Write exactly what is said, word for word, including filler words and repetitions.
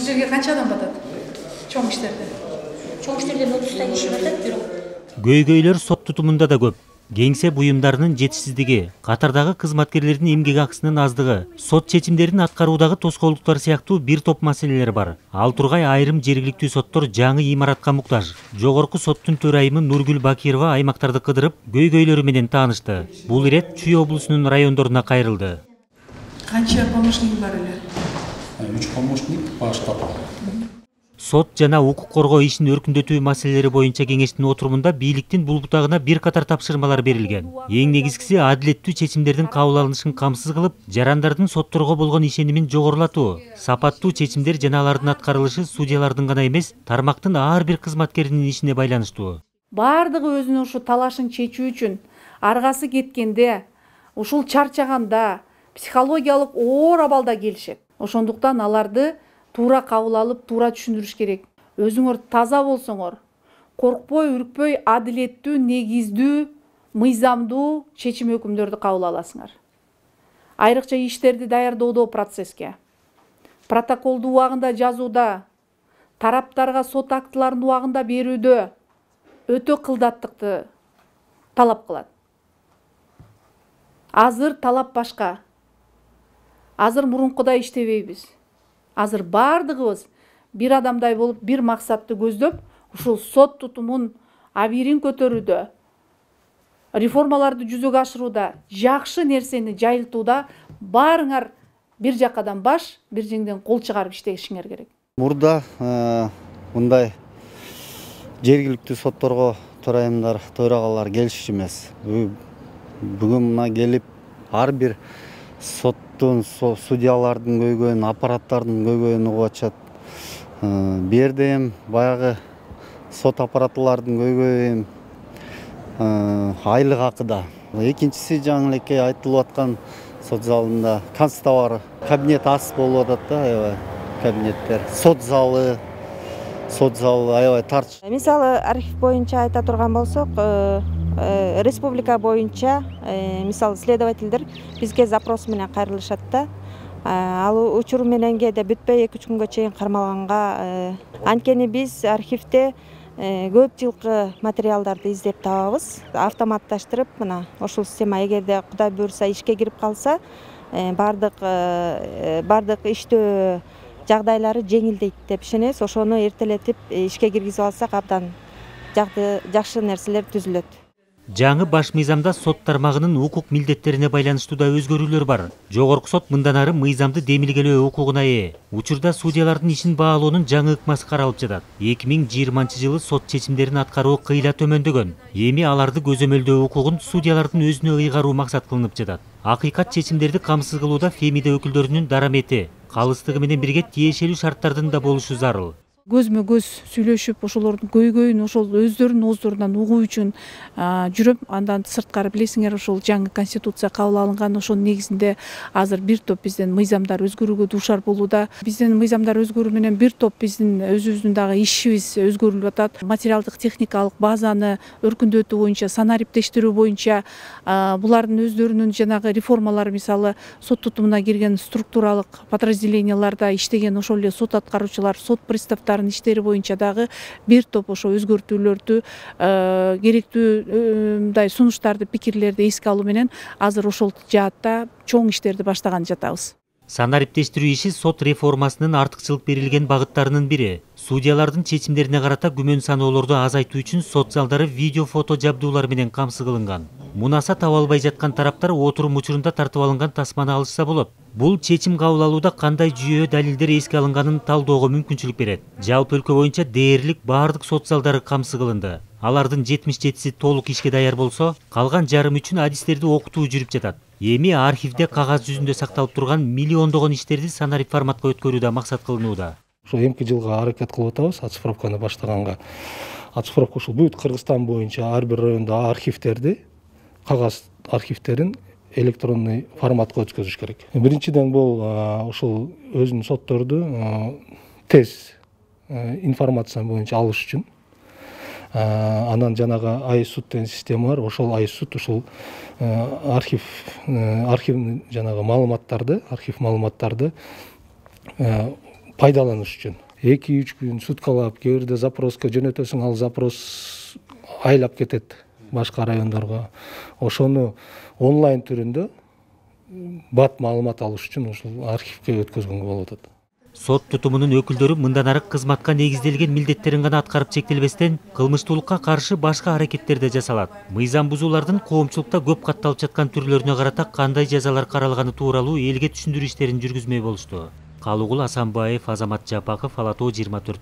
жерге канча адам батат? Чоң иштерде. Чоң иштерден отуздай киши батат бирок. Көйгөйлөр сот тутумунда да көп. Кеңсе буюмдарынын жетишсиздиги, катардагы кызматкерлердин эмгек акысынын аздыгы, сот чечимдерин аткаруудагы тоскоолдуктар сыяктуу бир топ маселелер бар. Ал тургай айрым жергиликтүү соттор жаңы имаратка муктаж. Жогорку соттун төрайымы Нургүл Бакирова аймактарды кыдырып, көйгөйлөрү менен таанышты. Бул ирет Чүй облусунун райондоруна кайрылды. Канча помощник бар эле? үч помощник баштап. Сот жана укук коргоо ишин өркүндөтүү маселелери боюнча кеңештин отурумунда бийликтин бул бутагына бир катар тапшырмалар берилген. Эң негизгиси адилеттүү чечимдердин кабыл алынышын камсыз кылып, жарандардын сотторго болгон ишенимин жогорулатуу, сапаттуу чечимдер жана алардын аткарылышы судьялардын гана эмес, тармактын ар бир кызматкеринин ишине байланыштуу. Бардыгы өзүнүн ушу талашын чечүү үчүн аргасы кеткенде, ушул чарчаганда, психологиялык оор абалда келишет. Ошондуктан аларды туура кабыл алып, туура түшүндүрүш керек. Өзүңөр таза болсоңор, коркпой, үркпөй, адилеттүү, негиздүү, мыйзамдуу чечим өкүмдөрдү кабыл аласыңар. Айрыкча иштерди даярдоодо процесске, протоколду убагында жазууда, тараптарга сот актыларын убагында берүүдө өтө кылдаттыкты талап кылат. Азыр талап башка. Азыр мурункудай иштебейбиз. Азыр бардыгыбыз бир адамдай болуп, бир максатты көздөп, ушул сот тутумун абийирин көтөрүүдө, реформаларды жүзөгө ашырууда, жакшы нерсени жайылтууда баарыңар бир жакадан баш, бир жеңден кол чыгарып иштешиңер керек. Мурда мындай жергиликтүү сотторго төрайымдар, төрагалар келишчү эмес. Бүгүн мына келип ар бир соттун, судьялардын көйгөйүн, аппараттардын көйгөйүн угуп атышат. Бердем баягы сот аппаратылардын көйгөйүн айлык акыда. Экинчиси жаңы элекке айтылып аткан сот залында канцтовар кабинет ас болуп атат да, аябай кабинеттер. Сот залы, сот залы аябай тарч. Мисалы архив боюнча айта турган болсок, республика боюнча мисалы следовательдер бизге запрос менен кайрылышат да. Ал учур менен кээде бүтпөй эки үч күнгө чейин кармалганга, анткени биз архивде көп жылкы материалдарды издеп табабыз. Автоматташтырып, мына ошол система эгерде Кудай буйрса ишке кирип калса, бардык бардык иштөө жагдайлары жеңилдейт деп ишенебиз. Ошону эртелетип ишке киргизип алсак абдан жакшы нерселер түзүлөт. Жаңы баш мыйзамда сот тармагынын укук милдеттерине байланыштуу да өзгөрүүлөр бар. Жогорку сот мындан ары мыйзамды демилгелөө укугуна ээ. Учурда судьялардын ишин баалоонун жаңы ыкмасы каралып жатат. эки миң жыйырманчы жылы сот чечимдерин аткаруу кыйла төмөндөгөн. Эми аларды көзөмөлдөө укугун судьялардын өзүнө ыйгаруу максат кылынып жатат. Акыйкат чечимдерди камсыз кылууда Фемида өкүлдөрүнүн дарамети, калыстыгы менен бирге тиешелүү шарттардын да болушу зарыл. Көзмө көз сүйлөшүп, ошолордун көйгөйүн ошол өздөрүнүн ооздорунан угуу үчүн жүрөм. Андан сырткары билесиңер, ошол жаңы конституция кабыл алынган, ошонун негизинде азыр бир топ биздин мыйзамдар өзгөрүүгө дуушар болууда. Биздин мыйзамдар өзгөрүү менен бир топ биздин өзүбүздүн дагы ишибиз өзгөрүлүп атат. Материалдык техникалык базаны өркүндөтүү боюнча, санариптештирүү боюнча булардын өздөрүнүн жанагы реформалары, мисалы сот тутумуна кирген структуралык подразделенияларда иштеген ошол эле сот аткаруучулар, сот приставдары иштери боюнча дагы бир топ ошо өзгөртүүлөрдү, керектүү мындай сунуштарды, пикирлерди эске алуу менен азыр ошол жаатта чоң иштерди баштаган жатабыз. Санариптештирүү иши сот реформасынын артыкчылык берилген багыттарынын бири. Судьялардын чечимдерине карата күмөн саноолорду азайтуу үчүн сот залдары видео фото жабдуулар менен камсыз кылынган. Мунаса таба албай жаткан тараптар отурум учурунда тартып алынган тасманы алышса болот. Бул чечим кабыл алууда кандай жүйө далилдер эске алынганын талдоого мүмкүнчүлүк берет. Жалпы өлкө боюнча дээрлик баардык сот залдары камсыз кылынды. Алардын жетимиш жетиси толук ишке даяр болсо, калган жарым үчүн адистерди окутуу жүрүп жатат. Эми архивде кагаз жүзүндө сакталып турган миллиондогон иштерди санарип форматка өткөрүү да максат кылынууда. Ошол эмки жылга аракет кылып атабыз оцифровканы баштаганга. Оцифровка ушул бүт Кыргызстан боюнча ар бир райондо архивтерди, кагаз архивтерин электронный форматка өткөзүш керек. Биринчиден бул ушул өзүнүн сотторду тез информация боюнча алыш үчүн. Анан жанагы айсуд деген система бар. Ошол айсуд ушул архив архив жанагы маалыматтарды, архив маалыматтарды пайдаланыш үчүн эки үч күн суткалап кээ бирде запроска жөнөтөсүң, ал запрос айлап кетет башка райондорго. Ошону онлайн түрүндө бат маалымат алыш үчүн ушул архивге өткөзгөнгө болуп атат. Сот тутумунун өкүлдөрү мындан ары кызматка негизделген милдеттерин гана аткарып чектелбестен, кылмыштуулукка каршы башка аракеттер да жасалат. Мыйзам бузуулардын коомчулукта көп катталып жаткан түрлөрүнө карата кандай жазалар каралганы тууралуу элге түшүндүрүү иштерин жүргүзмөй болушту. Калыгул Асанбаев, Азамат Жапаков, Ала Тоо жыйырма төрт.